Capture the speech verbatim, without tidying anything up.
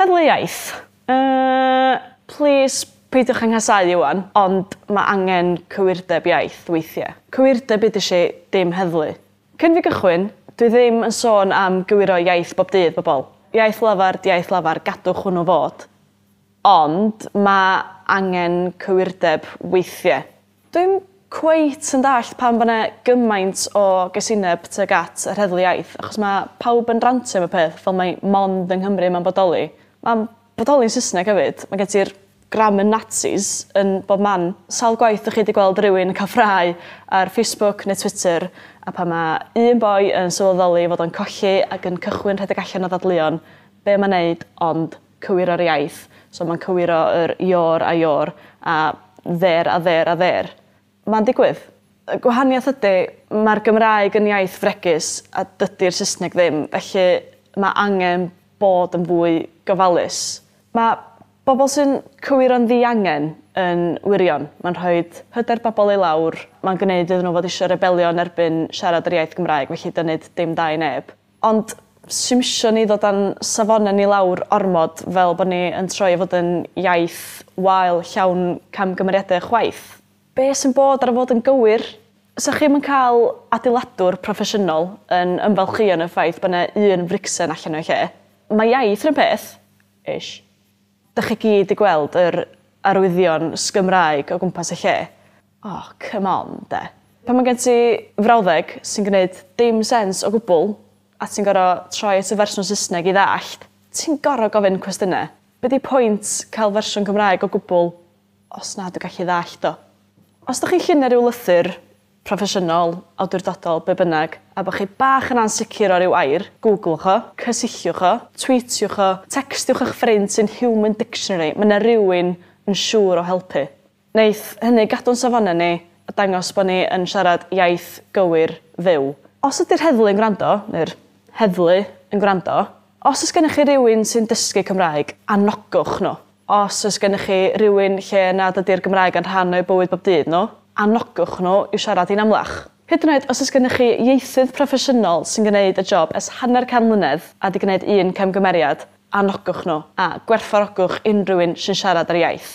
Heddlu iaith. Uh, please peidiwch â nghasáu ŵan, ond mae angen cywirdeb iaith weithiau. Cywirdeb ydy si, dim heddlu. Cyn fi gychwyn, dwi ddim yn sôn am gywiro iaith bob dydd, bobl. Iaith lafar, iaith lafar, gadwch hwnnw fod. Ond mae angen cywirdeb weithiau. Dwi'n cweit yn dallt pam bod yna gymaint o gasineb tuag at yr heddlu iaith, achos mae pawb yn rantio am y peth fel mae mond yng Nghymru mae'n bodoli. Mae'n bodoli'n Saesneg hefyd. Mae gen ti'r grammar Nazis yn bob man. Sawl gwaith ydych chi wedi gweld rhywun yn cael ffrae ar Facebook neu Twitter, a pan mae un boi yn sylweddoli fod o'n colli ac yn cychwyn rhedeg allan o ddadleuon, be mae'n neud ond cywiro'r iaith. So mae'n cywiro yr your a you're a there a they're a their. Mae'n digwydd. Y gwahaniaeth ydy, mae'r Gymraeg yn iaith fregus a dydy'r Saesneg ddim, felly mae angen bod yn fwy gofalus. Mae bobl sy'n cywiro'n ddiangen yn wirion. Mae'n rhoi hyder bobl i lawr. Mae'n gwneud iddyn nhw fod eisiau rebelio yn erbyn siarad yr iaith Gymraeg, felly dynnu dim da i neb. Ond sy'm isio ni ddod â'n safonau ni lawr ormod fel bod ni yn troi i fod yn iaith wael llawn camgymeriadau chwaith. Be sy'n bod ar fod yn gywir? Sa chi'm yn cael adeiladwr proffesiynol yn ymfalchïo yn y ffaith bod yna un fricsen allan o'i lle. Mae iaith yn peth, ish. Dych chi gyd i gweld yr arwyddion sgymraeg o gwmpas y lle. Oh, come on, de. Pan mae gen ti frawddeg sy'n gwneud dim sens o gwbl, a ti'n gorfod troi at y fersiwn Saesneg i ddallt, ti'n gorfod gofyn cwestiynau. Be di pwynt cael fersiwn Cymraeg o gwbl os na dwi'n gallu ddallt o? Os ydych chi'n llunio rhyw lythyr proffesiynol, awdurdodol, be bynnag, a bod chi bach yn ansicr o ryw air, googlwch o, cysylltiwch o, tweetiwch o, textiwch eich ffrind sy'n Human Dictionary, mae yna rhywun yn siŵr o helpu. Neith hynny gadw'n safonau ni a dangos bod ni yn siarad iaith gywir fyw. Os ydy'r heddlu yn gwrando, neu'r heddlu yn gwrando, os oes gennych chi rywun sy'n dysgu Cymraeg, anogwch nhw. Os oes gennych chi rywun lle nad ydy'r Gymraeg yn rhan o'u bywyd bob dydd nhw, anogwch nhw i siarad hi'n amlach. Hyd yn oed os oes gennych chi ieithydd proffesiynol sy'n gwneud y job ers hanner can mlynedd a di gwneud un camgymeriad, anogwch nhw a gwerthfawrogwch unrhyw un sy'n siarad yr iaith.